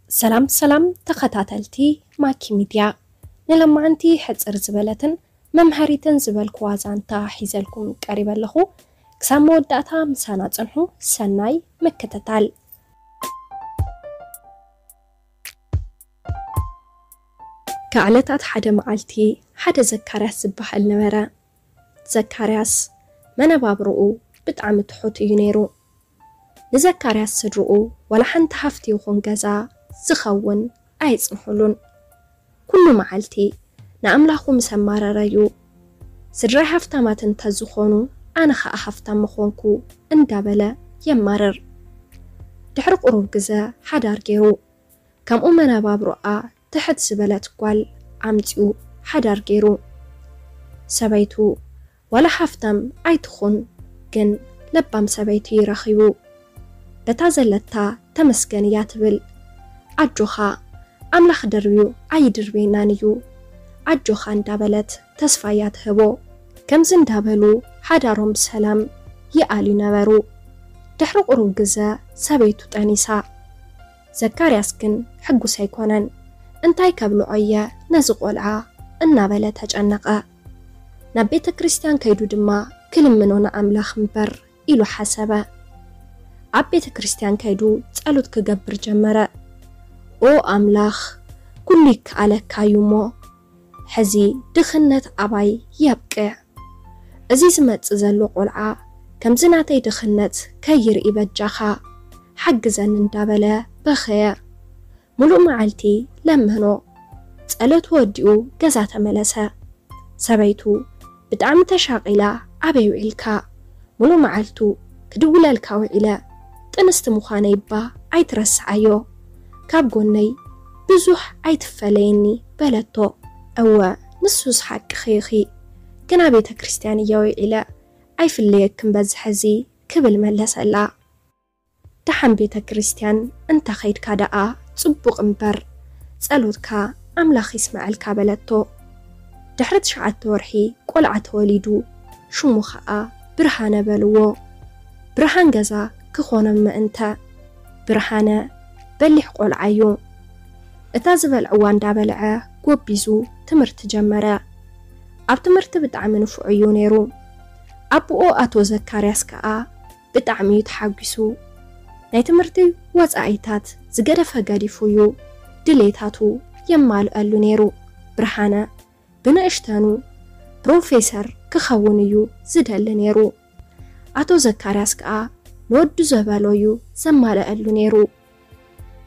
ሰላም ሰላም ተኸታተልቲ ማኪ ሚድያ፣ ንለማዓንቲ ሕጽር ዝበለትን መምሃሪትን ዝበልኩዋ ዛንታ ሒዘልኩም ቀሪበ ኣለኹ። ክሳብ መወዳእታ ምሳና ጽንሑ። ሰናይ ምክትታል። ካብ ዕለታት ሓደ መዓልቲ፣ ሓደ ዘካርያስ ዝበሃል ነበረ። ዘካርያስ መነባብሮኡ ብጣዕሚ ትሑት እዩ ነይሩ። ንዘካርያስ ስድርኡ ዋላ ሓንቲ ሃፍቲ ይኹን ገዛ ዝኸውን ኣየጽንሑሉን። ኩሉ መዓልቲ ንኣምላኹ ምስ ኣማረረ እዩ፣ "ስድራይ ሃፍታማት እንተዝኾኑ፣ ኣነ ኸኣ ሃፍታም ምኾንኩ" እንዳበለ የማርር። ድሕሪ ቁሩብ ግዘ ሓዳር ገይሩ። ከምኡ መነባብሮኣ ትሕት ዝበለት ጓል ኣምጺኡ ሓዳር ገይሩ። ሰበይቱ ዋላ ሃፍታም ኣይትኹን፣ ግን ለባም ሰበይቲ ረኺቡ። በታ ዘለታ ተመስገን እያ ትብል። "ኣጆኻ፣ ኣምላኽ ደርብዩ ኣይድርበየናን እዩ፣ ኣጆኻ" እንዳበለት ተስፋ እያ ትህቦ። ከምዚ እንዳበሉ ሓዳሮም ብሰላም ይኣልዩ ነበሩ። ድሕሪ ቁሩብ ግዘ ሰበይቱ ጠኒሳ። ዘካርያስ ግን ሕጉስ ኣይኮነን። "እንታይ ከብልዖ እየ ነዚ ቆልዓ?" እናበለ ተጨነቐ። ናብ ቤተ ክርስቲያን ከይዱ ድማ ክልምኖ ንኣምላኽ እምበር ኢሉ ሓሰበ። ኣብ ቤተ ክርስቲያን ከይዱ ጸሎት ክገብር ጀመረ። "ኦ ኣምላኽ፣ ኩሉ ይከኣለካ እዩ እሞ፣ ሕዚ ድኽነት ኣባይ የብቅዕ። እዚ ዝመጽእ ዘሎ ቆልዓ ከምዚ ናተይ ድኽነት ከይርኢ በጃኻ ሓግዘኒ" እንዳበለ በኸየ። ሙሉእ መዓልቲ ለመኖ። ጸሎቱ ወዲኡ ገዛ ተመለሰ። ሰበይቱ ብጣዕሚ ተሻቒላ፣ "ኣበይ ውዒልካ? ሙሉእ መዓልቱ ክድውለልካ ውዒለ። ጥንስቲ ምዃነይ እባ ኣይትረስዓዮ። ካብ ጎነይ ብዙሕ ኣይትፈለየኒ" በለቶ። "እወ፣ ንሱስ ሓቅኺ ኢኺ፣ ግና ቤተ ክርስቲያን እየ ውዒለ፣ ኣይፍለየክን በዚ ሕዚ" ክብል መለሰላ። "ደሓን ቤተ ክርስቲያን እንተ ኸይድካ ደኣ ጽቡቕ እምበር፣ ጸሎትካ ኣምላኽ ይስምዓልካ" በለቶ። ድሕሪ ትሽዓተ ወርሒ ቆልዓ ተወሊዱ፣ ሽሙ ኸኣ ብርሃነ በልዎ። ብርሃን ገዛ ክኾኖም ምእንተ። ብርሃነ በሊሕ ቆልዓ እዩ። እታ ዝበልዕዋ እንዳበልዐ ጎቢዙ ትምህርቲ ጀመረ። ኣብ ትምህርቲ ብጣዕሚ ንፉዕ እዩ ነይሩ። ኣቦኡ ኣቶ ዘካርያስ ከኣ ብጣዕሚ እዩ ተሓጒሱ። ናይ ትምህርቲ ወጻኢታት ዝገደፈ ገዲፉ እዩ ድሌታቱ የማልአሉ ነይሩ። ብርሃነ ብንእሽተኑ ፕሮፌሰር ክኸውን እዩ ዝደሊ ነይሩ። ኣቶ ዘካርያስ ከኣ ንወዱ ዘበሎ እዩ ዘማልአሉ ነይሩ።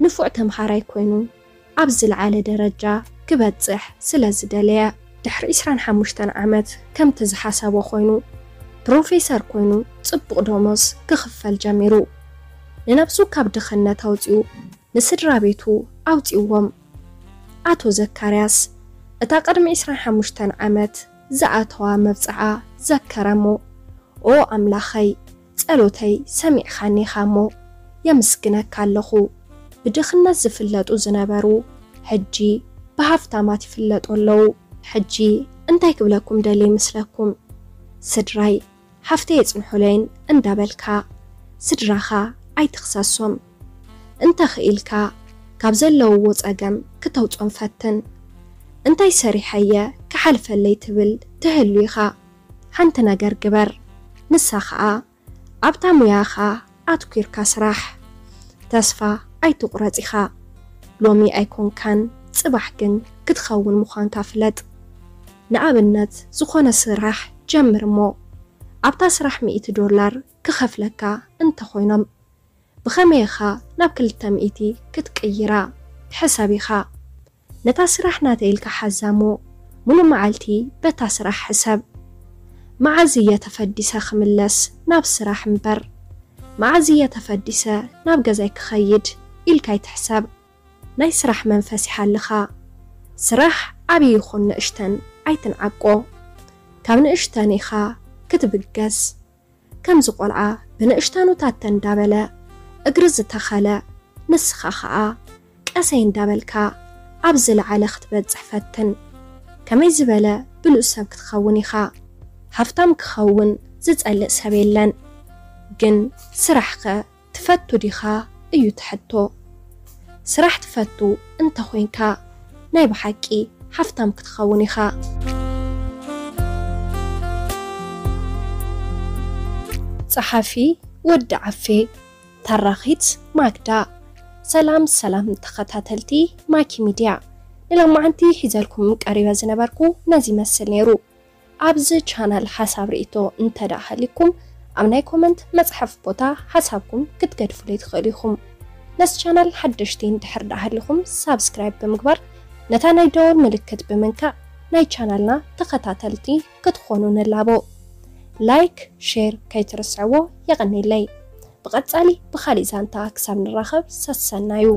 ንፉዕ ተምሃራይ ኮይኑ ኣብ ዝለዓለ ደረጃ ክበጽሕ ስለ ዝደለየ፣ ድሕሪ ዕስራን ሓሙሽተን ዓመት ከምቲ ዝሓሰቦ ኮይኑ፣ ፕሮፌሰር ኮይኑ ጽቡቕ ደሞዝ ክኽፈል ጀሚሩ። ንነብሱ ካብ ድኽነት ኣውጺኡ ንስድራ ቤቱ ኣውጺእዎም። ኣቶ ዘካርያስ እታ ቅድሚ ዕስራን ሓሙሽተን ዓመት ዝኣተዋ መብጽዓ ዘከረ እሞ፣ "ኦ ኣምላኸይ፣ ጸሎተይ ሰሚዕኻኒ ኢኻ እሞ የምስግነካ ኣለኹ። ብድኽነት ዝፍለጡ ዝነበሩ ሕጂ ብሃፍታማት ይፍለጡ ኣለዉ። ሕጂ እንታይ ክብለኩም ደልየ ይመስለኩም? ስድራይ፣ ሃፍተይ የጽንሑለይን እንዳበልካ ስድራኻ ኣይትኽሰሶም። እንተ ኽኢልካ ካብ ዘለውዎ ጸገም ክተውጾም ፈትን። እንታይ ሰሪሐየ ክሓልፈለይ ትብል ትህሉ ኢኻ። ሓንቲ ነገር ግበር፣ ንሳ ኸኣ ኣብታ ሙያኻ ኣትኲርካ ስራሕ። ተስፋ ኣይትቑረጽ ኢኻ። ሎሚ ኣይኮንካን፣ ጽባሕ ግን ክትኸውን ምዃንካ ፍለጥ። ንኣብነት፣ ዝኾነ ስራሕ ጀምር እሞ፣ ኣብታ ስራሕ ሚእቲ ዶላር ክኸፍለካ እንተኾይኖም፣ ብኸመይ ኢኻ ናብ ክልተ ሚእቲ ክትቅይራ? ሕሰብ ኢኻ። ነታ ስራሕ ናተይ ኢልካ ሓዛ እሞ፣ ሙሉእ መዓልቲ በታ ስራሕ ሕሰብ። መዓዝ እየ ተፈዲሰ ክምለስ ናብ ስራሕ እምበር፣ መዓዝ እየ ተፈዲሰ ናብ ገዛይ ክኸይድ ኢልካ ኣይትሕሰብ። ናይ ስራሕ መንፈስ ይሃልኻ። ስራሕ ዓብዪ ይኹን ንእሽተን ኣይትንዓቆ። ካብ ንእሽተን ኢኻ ክትብገስ። ከምዚ ቆልዓ ብንእሽተኑ ታተ እንዳበለ እግሪ ዝተኸለ፣ ንስኻ ኸኣ ቀሰይ እንዳበልካ ኣብ ዝለዓለ ክትበጽሕ ፈትን። ከመይ ዝበለ ብሉጽ ሰብ ክትኸውን ኢኻ። ሃፍታም ክኸውን ዝጸልእ ሰብ የለን። ግን ስራሕኸ ትፈቱ ዲኻ እዩ እቲ ሕቶ። ስራሕ ትፈቱ እንተኾይንካ ናይ ብሓቂ ሃፍታም ክትኸውን ኢኻ። ጸሓፊ ወዲ ዓፌ፣ ተራኺት ማግዳ። ሰላም ሰላም ተኸታተልቲ ማኪ ሚድያ፣ ንሎማዓንቲ ሒዘልኩም ቀሪበ ዝነበርኩ ነዚ ይመስል ነይሩ። ኣብዚ ቻናል ሓሳብ ርእይቶ እንተ ደኣ ሃሊኩም ኣብ ናይ ኮመንት መጽሓፍ ቦታ ሓሳብኩም ክትገድፉለይ ትኽእሉ ኢኹም። ነዚ ቻናል ሓደሽቲ እንድሕር ደኣ ሃሊኹም ሳብስክራይብ ብምግባር ነታ ናይ ደወል ምልክት ብምንካእ ናይ ቻናልና ተኸታተልቲ ክትኾኑ ንላቦ። ላይክ፣ ሼር ከይትርስዕዎ። የቐኔለይ። ብቐጻሊ ብኻሊእ ዛንታ ክሳብ ንራኸብ ሰሰናዩ።